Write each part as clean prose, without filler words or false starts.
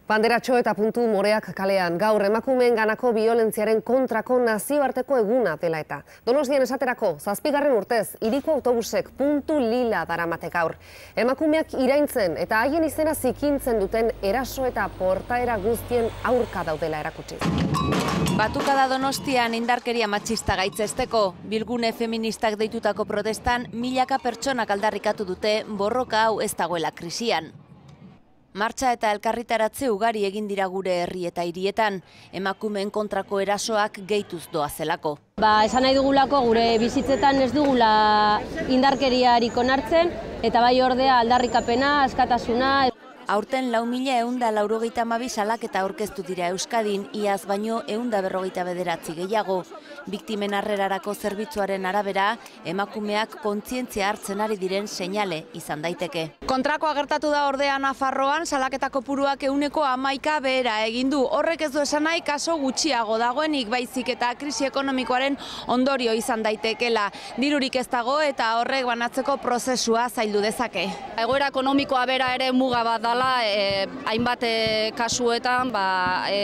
Banderatxo eta puntu moreak kalean gaur emakumeen ganako biolentziaren kontrako nazioarteko eguna dela eta. Donostian esaterako, 7. urtez, hiriko autobusek puntu lila daramate gaur. Emakumeak iraintzen eta haien izena zikintzen duten eraso eta portaera guztien aurka daudela erakutsi. Batukada Donostian indarkeria matxista gaitzesteko, bilgune feministak deitutako protestan milaka pertsonak aldarrikatu dute borroka hau ez dagoela krisian. Martxa eta elkarritaratze ugari egin dira gure herri eta hirietan, emakumeen kontrako erasoak gehituz doazelako. Esan nahi dugulako gure bizitzetan ez dugula indarkeriarik onartzen, eta bai ordea aldarrikapena, askatasuna. Aurten 4.192 salaketa aurkeztu dira Euskadin, iaz baino 159 gehiago. Biktimen harrerarako zerbitzuaren arabera, emakumeak kontzientzia hartzen ari diren seinale izan daiteke. Kontrakoa gertatu da ordea Nafarroan, salaketa kopuruak 11% behera egin du. Horrek ez du esan nahi kaso gutxiago dagoenik, baizik eta krisi ekonomikoaren ondorio izan daitekela. Dirurik ez dago eta horrek banatzeko prozesua zaildu dezake. Egoera ekonomikoa bera ere muga bat da. Hainbat kasuetan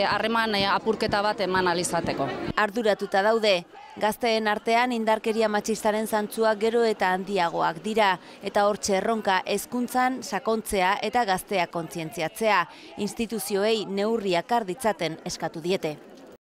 harreman apurketa bat eman alizateko. Arduratuta daude, gazteen artean indarkeria matxistaren zantzuak gero eta handiagoak dira, eta hortxe erronka hezkuntzan sakontzea eta gazteak kontzientziatzea, instituzioei neurriak har ditzaten eskatu diete.